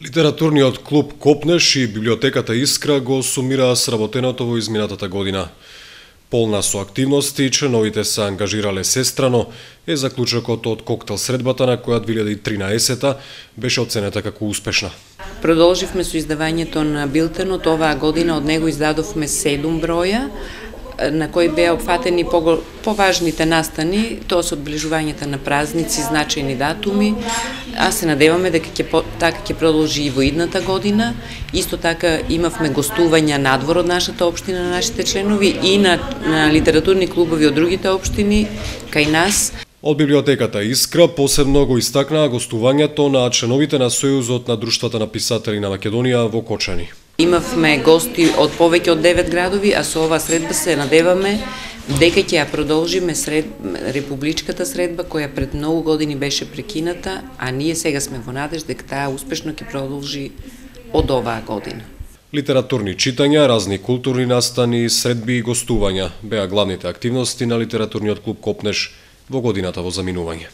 Литературниот клуб Копнеш и библиотеката Искра го сумираа сработеното во изминатата година. Полна со активности, членовите се ангажирале сестрано, е заклучокот од коктел средбата на која 2013 беше оценета како успешна. Продолживме со издавањето на билтенот. Оваа година од него издадовме 7 броја, на кои беа опфатени поважните настани, тоа се одбележувањата на празници, значајни датуми, а се надеваме дека така ќе продолжи и во идната година. Исто така имавме гостувања надвор од нашата општина, на нашите членови и на литературни клубови од другите општини кај нас. Од библиотеката Искра посебно го истакнаа гостувањето на членовите на Сојузот на друштвата на писатели на Македонија во Кочани. Имавме гости од повеќе од 9 градови, а со оваа средба се надеваме дека ќе ја продолжиме републичката средба која пред многу години беше прекината, а ние сега сме во надеж дека таа успешно ќе продолжи од оваа година. Литературни читања, разни културни настани, средби и гостувања беа главните активности на литературниот клуб Копнеш во годината во заминување.